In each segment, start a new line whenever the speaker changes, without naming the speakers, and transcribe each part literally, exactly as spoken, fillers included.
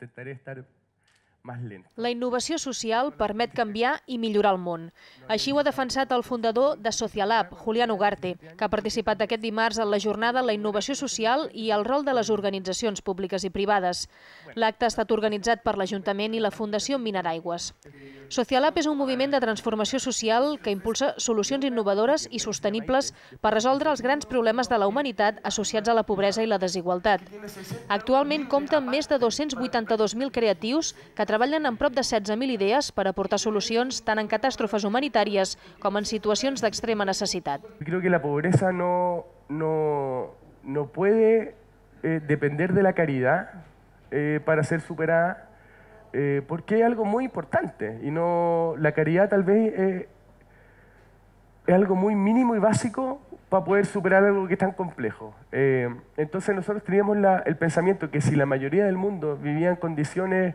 intentaré estar más lento.
La innovació social permet canviar i millorar el món. Així ho ha defensat el fundador de Socialab, Julián Ugarte, que ha participat aquest dimarts en la jornada La innovació social i el rol de les organitzacions públiques i privades. L'acte ha estat organitzat per l'Ajuntament i la Fundació Mineraigües. Socialab és un moviment de transformació social que impulsa solucions innovadores i sostenibles per resoldre els grans problemes de la humanitat associats a la pobresa i la desigualtat. Actualment compta amb més de dos-cents vuitanta-dos mil creatius que treballen amb prop de setze mil idees per aportar solucions tant en catàstrofes humanitàries com en situacions d'extrema necessitat.
Creo que la pobreza no, no, no puede eh, depender de la caridad eh, para ser superada, eh, porque es algo muy importante y no, la caridad tal vez eh, es algo muy mínimo y básico para poder superar algo que es tan complejo. Eh, entonces nosotros teníamos la, el pensamiento que si la mayoría del mundo vivía en condiciones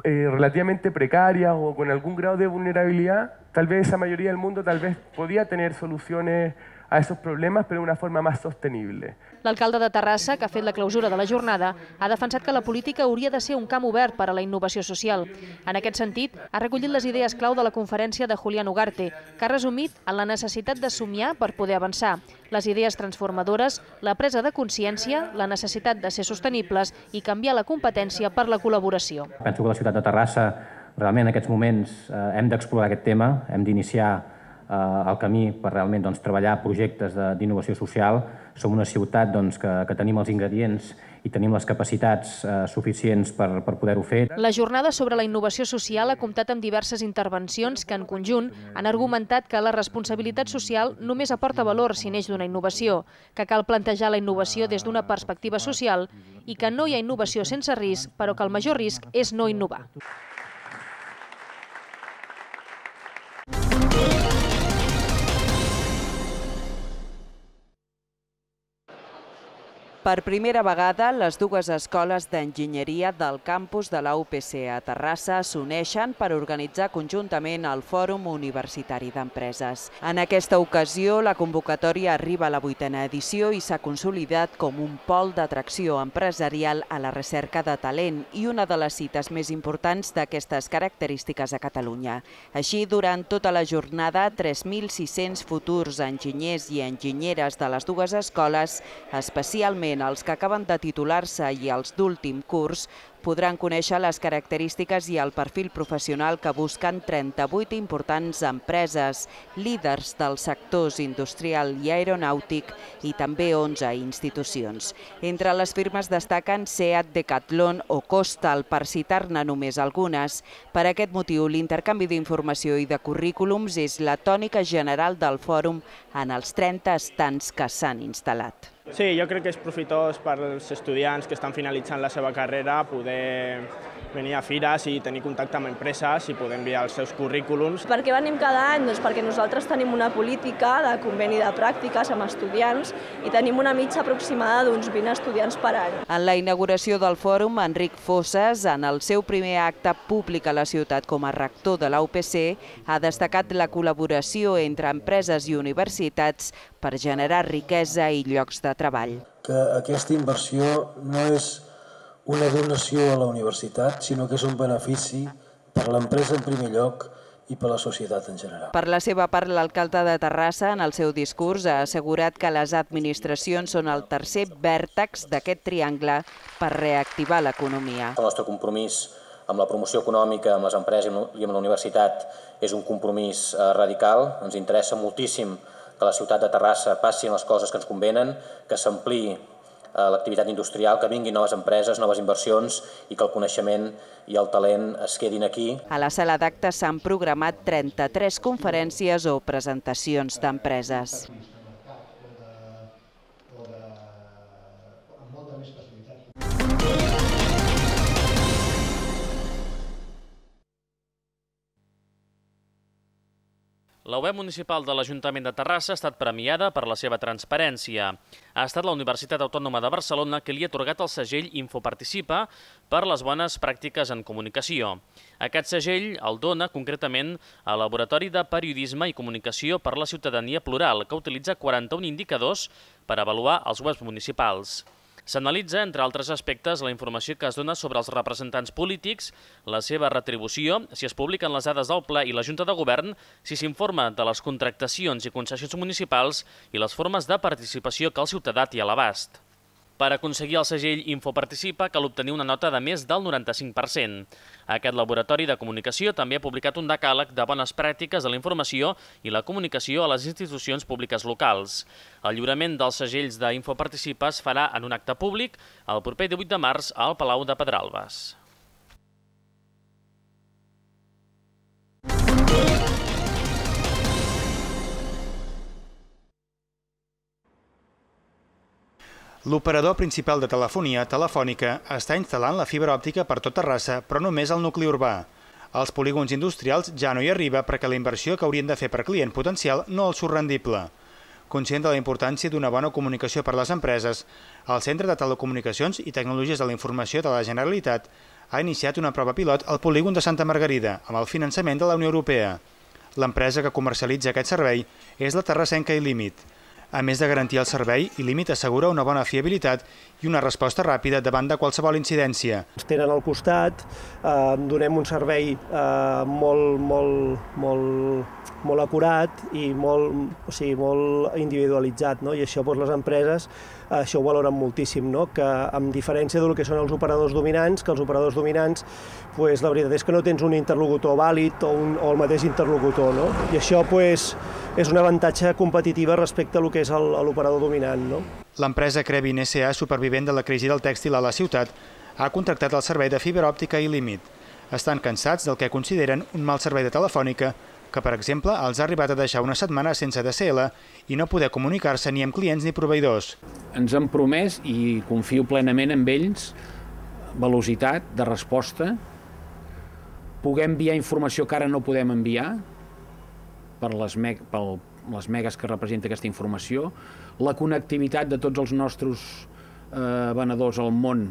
Eh, relativamente precarias o con algún grado de vulnerabilidad, tal vez esa mayoría del mundo tal vez podía tener soluciones a esos problemas, però d'una forma més sostenible.
L'alcalde de Terrassa, que ha fet la clausura de la jornada, ha defensat que la política hauria de ser un camp obert per a la innovació social. En aquest sentit, ha recollit les idees clau de la conferència de Julián Ugarte, que ha resumit en la necessitat de somiar per poder avançar, les idees transformadores, la presa de consciència, la necessitat de ser sostenibles i canviar la competència per la col·laboració.
Penso que la ciutat de Terrassa, realment en aquests moments, eh, hem d'explorar aquest tema, hem d'iniciar el camí per realment doncs, treballar projectes d'innovació social. Som una ciutat doncs, que, que tenim els ingredients i tenim les capacitats eh, suficients per, per poder-ho fer.
La jornada sobre la innovació social ha comptat amb diverses intervencions que, en conjunt, han argumentat que la responsabilitat social només aporta valor si neix d'una innovació, que cal plantejar la innovació des d'una perspectiva social i que no hi ha innovació sense risc, però que el major risc és no innovar.
Per primera vegada, les dues escoles d'enginyeria del campus de la U P C a Terrassa s'uneixen per organitzar conjuntament el Fòrum Universitari d'Empreses. En aquesta ocasió, la convocatòria arriba a la vuitena edició i s'ha consolidat com un pol d'atracció empresarial a la recerca de talent i una de les cites més importants d'aquestes característiques a Catalunya. Així, durant tota la jornada, tres mil sis-cents futurs enginyers i enginyeres de les dues escoles, especialment els que acaben de titular-se i els d'últim curs, podran conèixer les característiques i el perfil professional que busquen trenta-vuit importants empreses, líders dels sectors industrial i aeronàutic i també onze institucions. Entre les firmes destaquen SEAT, Decathlon o Costal, per citar-ne només algunes. Per aquest motiu, l'intercanvi d'informació i de currículums és la tònica general del fòrum en els trenta estants que s'han instal·lat.
Sí, jo crec que és profitós per als estudiants que estan finalitzant la seva carrera poder venir a fires i tenir contacte amb empreses i poder enviar els seus currículums.
Per què venim cada any? Doncs perquè nosaltres tenim una política de conveni de pràctiques amb estudiants i tenim una mitja aproximada d'uns vint estudiants per any.
En la inauguració del fòrum, Enric Fosses, en el seu primer acte públic a la ciutat com a rector de la U P C, ha destacat la col·laboració entre empreses i universitats per generar riquesa i llocs de treball.
Que aquesta inversió no és una donació a la universitat, sinó que és un benefici per l'empresa en primer lloc i per la societat en general.
Per la seva part, l'alcalde de Terrassa, en el seu discurs, ha assegurat que les administracions són el tercer vèrtex d'aquest triangle per reactivar l'economia.
El nostre compromís amb la promoció econòmica, amb les empreses i amb la universitat és un compromís radical. Ens interessa moltíssim que la ciutat de Terrassa passin les coses que ens convenen, que s'ampliï l'activitat industrial, que vinguin noves empreses, noves inversions i que el coneixement i el talent es quedin aquí.
A la sala d'actes s'han programat trenta-tres conferències o presentacions d'empreses.
La web municipal de l'Ajuntament de Terrassa ha estat premiada per la seva transparència. Ha estat la Universitat Autònoma de Barcelona que li ha atorgat el segell Infoparticipa per les bones pràctiques en comunicació. Aquest segell el dona concretament al Laboratori de Periodisme i Comunicació per la Ciutadania Plural, que utilitza quaranta-un indicadors per avaluar els webs municipals. S'analitza, entre altres aspectes, la informació que es dona sobre els representants polítics, la seva retribució, si es publiquen les dades del ple i la Junta de Govern, si s'informa de les contractacions i concessions municipals i les formes de participació que el ciutadà té a l'abast. Per aconseguir el segell Infoparticipa cal obtenir una nota de més del noranta-cinc per cent. Aquest laboratori de comunicació també ha publicat un decàleg de bones pràctiques de la informació i la comunicació a les institucions públiques locals. El lliurament dels segells d'Infoparticipa es farà en un acte públic el proper divuit de març al Palau de Pedralbes.
L'operador principal de telefonia, Telefònica, està instal·lant la fibra òptica per tot Terrassa, però només al nucli urbà. Als polígons industrials ja no hi arriba perquè la inversió que haurien de fer per client potencial no els surt rendible. Conscient de la importància d'una bona comunicació per a les empreses, el Centre de Telecomunicacions i Tecnologies de la Informació de la Generalitat ha iniciat una prova pilot al polígon de Santa Margarida, amb el finançament de la Unió Europea. L'empresa que comercialitza aquest servei és la terrassenca iLímit. A més de garantir el servei, iLímit assegura una bona fiabilitat i una resposta ràpida davant de qualsevol incidència.
Ens tenen al costat, eh, donem un servei eh, molt, molt, molt, molt acurat i molt, o sigui, molt individualitzat, no? I això doncs, les empreses eh, això ho valoren moltíssim, no? Que amb diferència del que són els operadors dominants, que els operadors dominants pues, la veritat és que no tens un interlocutor vàlid o, un, o el mateix interlocutor, no? I això pues, és un avantatge competitiu respecte a lo que és l'operador dominant, no?
L'empresa Crevin S A, supervivent de la crisi del tèxtil a la ciutat, ha contractat el servei de fibra òptica iLímit. Estan cansats del que consideren un mal servei de Telefònica, que, per exemple, els ha arribat a deixar una setmana sense D S L i no poder comunicar-se ni amb clients ni proveïdors.
Ens han promès, i confio plenament en ells, velocitat de resposta, poder enviar informació que ara no podem enviar per les, me per les megas que representa aquesta informació, la connectivitat de tots els nostres eh, venedors al món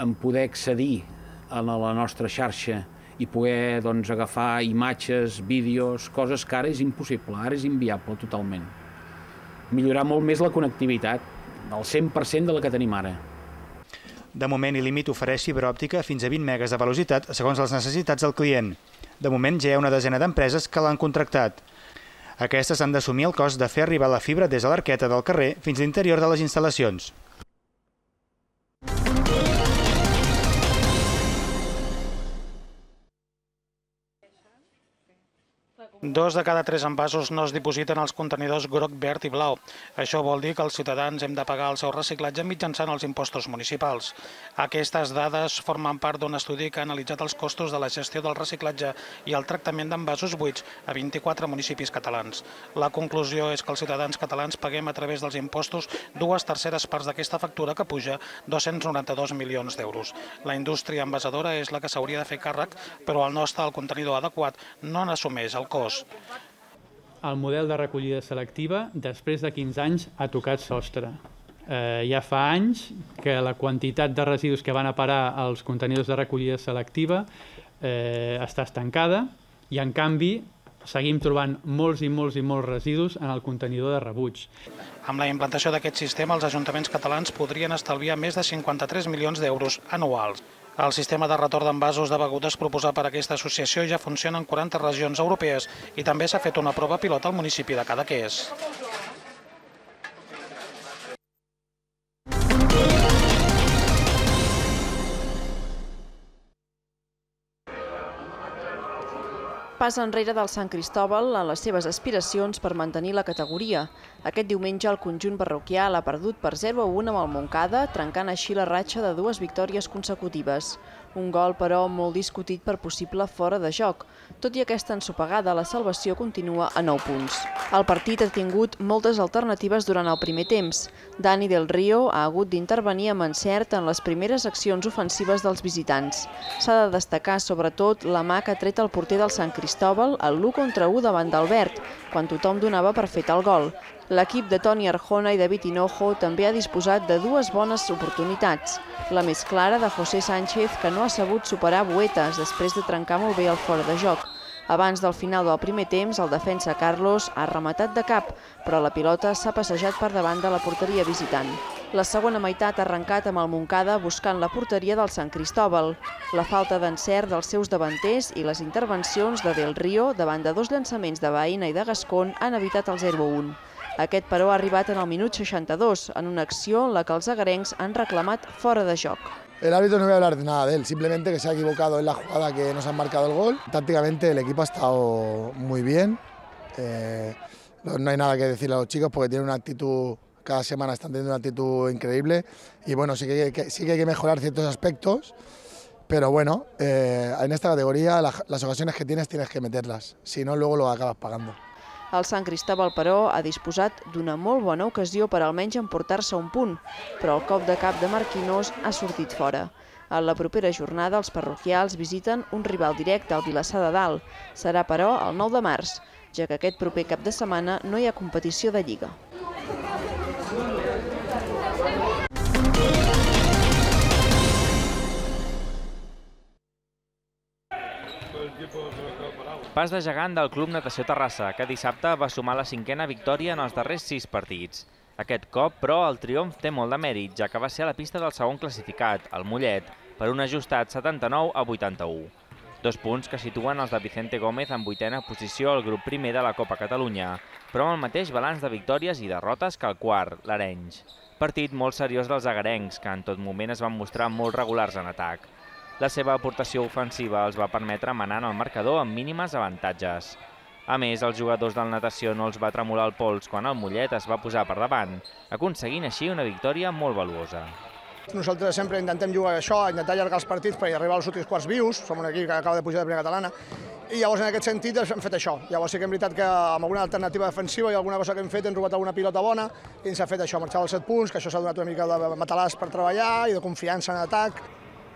en poder accedir a la nostra xarxa i poder doncs, agafar imatges, vídeos, coses que ara és impossible, ara és inviable totalment. Millorar molt més la connectivitat, el cent per cent de la que tenim ara.
De moment, iLímit ofereix fibra òptica fins a vint megas de velocitat segons les necessitats del client. De moment ja hi ha una desena d'empreses que l'han contractat. Aquestes han d'assumir el cost de fer arribar la fibra des de l'arqueta del carrer fins a l'interior de les instal·lacions.
Dos de cada tres envasos no es dipositen als contenidors groc, verd i blau. Això vol dir que els ciutadans hem de pagar el seu reciclatge mitjançant els impostos municipals. Aquestes dades formen part d'un estudi que ha analitzat els costos de la gestió del reciclatge i el tractament d'envasos buits a vint-i-quatre municipis catalans. La conclusió és que els ciutadans catalans paguem a través dels impostos dues terceres parts d'aquesta factura que puja dos-cents noranta-dos milions d'euros. La indústria envasadora és la que s'hauria de fer càrrec, però al no estar el contenidor adequat no n'assumeix el cost.
El model de recollida selectiva, després de quinze anys, ha tocat sostre. Eh, ja fa anys que la quantitat de residus que van a parar als contenidors de recollida selectiva eh, està estancada i, en canvi, seguim trobant molts i molts i molts residus en el contenidor de rebuig.
Amb la implantació d'aquest sistema, els ajuntaments catalans podrien estalviar més de cinquanta-tres milions d'euros anuals. El sistema de retorn d'envasos de begudes proposat per aquesta associació ja funciona en quaranta regions europees i també s'ha fet una prova pilot al municipi de Cadaqués.
Pas enrere del Sant Cristòbal en les seves aspiracions per mantenir la categoria. Aquest diumenge el conjunt parroquial ha perdut per zero a un amb el Montcada, trencant així la ratxa de dues victòries consecutives. Un gol, però, molt discutit per possible fora de joc. Tot i aquesta ensopegada, la salvació continua a nou punts. El partit ha tingut moltes alternatives durant el primer temps. Dani del Río ha hagut d'intervenir amb encert en les primeres accions ofensives dels visitants. S'ha de destacar, sobretot, la mà que ha tret el porter del Sant Cristòbal al l'u contra u davant d'Albert, quan tothom donava per fet el gol. L'equip de Toni Arjona i David Hinojo també ha disposat de dues bones oportunitats. La més clara de José Sánchez, que no ha sabut superar Buetas després de trencar molt bé el fora de joc. Abans del final del primer temps, el defensa Carlos ha rematat de cap, però la pilota s'ha passejat per davant de la porteria visitant. La segona meitat ha arrencat amb el Montcada buscant la porteria del Sant Cristòbal. La falta d'encert dels seus davanters i les intervencions de Del Río davant de dos llançaments de Baena i de Gascón han evitat el zero a un. Aquest, però, ha arribat en el minut seixanta-dos, en una acció en la que els agarencs han reclamat fora de joc.
El árbitro no voy a hablar de nada de él, simplemente que se ha equivocado en la jugada que nos han marcado el gol. Tácticamente el equipo ha estado muy bien, eh, no hay nada que decirle a los chicos porque tienen una actitud... Cada semana están teniendo una actitud increíble y bueno, sí que, que, sí que hay que mejorar ciertos aspectos, pero bueno, eh, en esta categoría la, las ocasiones que tienes tienes que meterlas, si no luego lo acabas pagando.
El Sant Cristòbal, però, ha disposat d'una molt bona ocasió per almenys emportar-se un punt, però el cop de cap de Marquinós ha sortit fora. En la propera jornada, els parroquials visiten un rival directe, el Vilassar de Dalt. Serà, però, el nou de març, ja que aquest proper cap de setmana no hi ha competició de Lliga.
Pas de gegant del Club Natació Terrassa, que dissabte va sumar la cinquena victòria en els darrers sis partits. Aquest cop, però, el triomf té molt de mèrit, ja que va ser a la pista del segon classificat, el Mollet, per un ajustat setanta-nou a vuitanta-u. Dos punts que situen els de Vicente Gómez en vuitena posició al grup primer de la Copa Catalunya, però amb el mateix balanç de victòries i derrotes que el quart, l'Arenys. Partit molt seriós dels agarencs, que en tot moment es van mostrar molt regulars en atac. La seva aportació ofensiva els va permetre manar en el marcador amb mínimes avantatges. A més, els jugadors del Natació no els va tremolar el pols quan el Mollet es va posar per davant, aconseguint així una victòria molt valuosa.
Nosaltres sempre intentem jugar això, intentar allargar els partits per arribar als últims quarts vius, som un equip que acaba de pujar de primera catalana, i llavors en aquest sentit hem fet això. Llavors sí que és veritat que amb alguna alternativa defensiva i alguna cosa que hem fet hem robat alguna pilota bona i ens ha fet això, marxar als set punts, que això s'ha donat una mica de matalàs per treballar i de confiança en atac.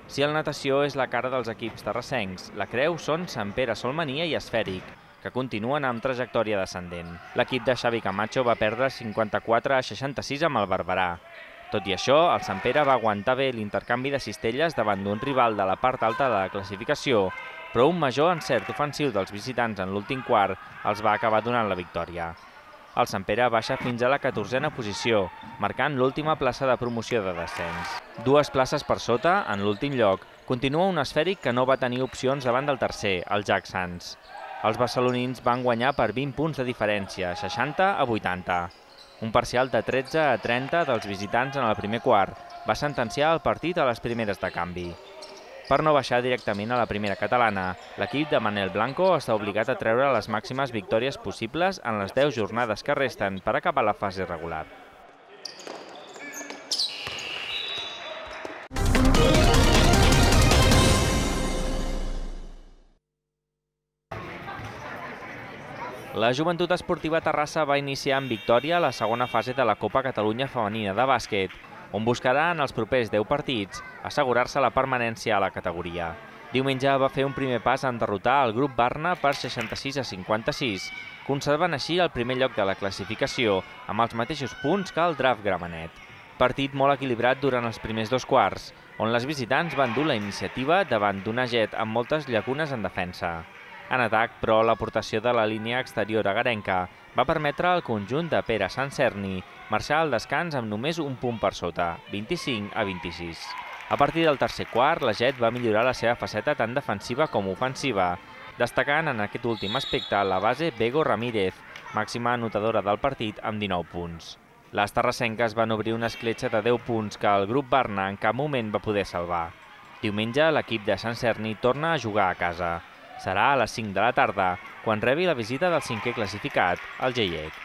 Si el Natació és la cara dels equips terrassencs, la creu són Sant Pere Solmania i Esfèric, que continuen amb trajectòria descendent. L'equip de Xavi Camacho va perdre cinquanta-quatre a seixanta-sis amb el Barberà. Tot i això, el Sant Pere va aguantar bé l'intercanvi de cistelles davant d'un rival de la part alta de la classificació, però un major encert ofensiu dels visitants en l'últim quart els va acabar donant la victòria. El Sant Pere baixa fins a la catorzena posició, marcant l'última plaça de promoció de descens. Dues places per sota, en l'últim lloc, continua un Esfèric que no va tenir opcions davant del tercer, el Jack Sants. Els barcelonins van guanyar per vint punts de diferència, seixanta a vuitanta. Un parcial de tretze a trenta dels visitants en el primer quart va sentenciar el partit a les primeres de canvi. Per no baixar directament a la primera catalana, l'equip de Manel Blanco està obligat a treure les màximes victòries possibles en les deu jornades que resten per acabar la fase regular. La Joventut Esportiva Terrassa va iniciar amb victòria la segona fase de la Copa Catalunya Femenina de bàsquet, on buscarà en els propers deu partits assegurar-se la permanència a la categoria. Diumenge va fer un primer pas en derrotar el grup Barna per seixanta-sis a cinquanta-sis, conservant així el primer lloc de la classificació amb els mateixos punts que el Draft Gramenet. Partit molt equilibrat durant els primers dos quarts, on les visitants van dur la iniciativa davant d'una Jet amb moltes llacunes en defensa. En atac, però, l'aportació de la línia exterior agarenca va permetre al conjunt de Pere Sancerni marxar al descans amb només un punt per sota, vint-i-cinc a vint-i-sis. A partir del tercer quart, la Jet va millorar la seva faceta tant defensiva com ofensiva, destacant en aquest últim aspecte la base Bego Ramírez, màxima anotadora del partit amb dinou punts. Les terrassenques van obrir una escletxa de deu punts que el grup Barna en cap moment va poder salvar. Diumenge, l'equip de Sancerni torna a jugar a casa. Serà a les cinc de la tarda, quan rebi la visita del cinquè classificat, el Geiec.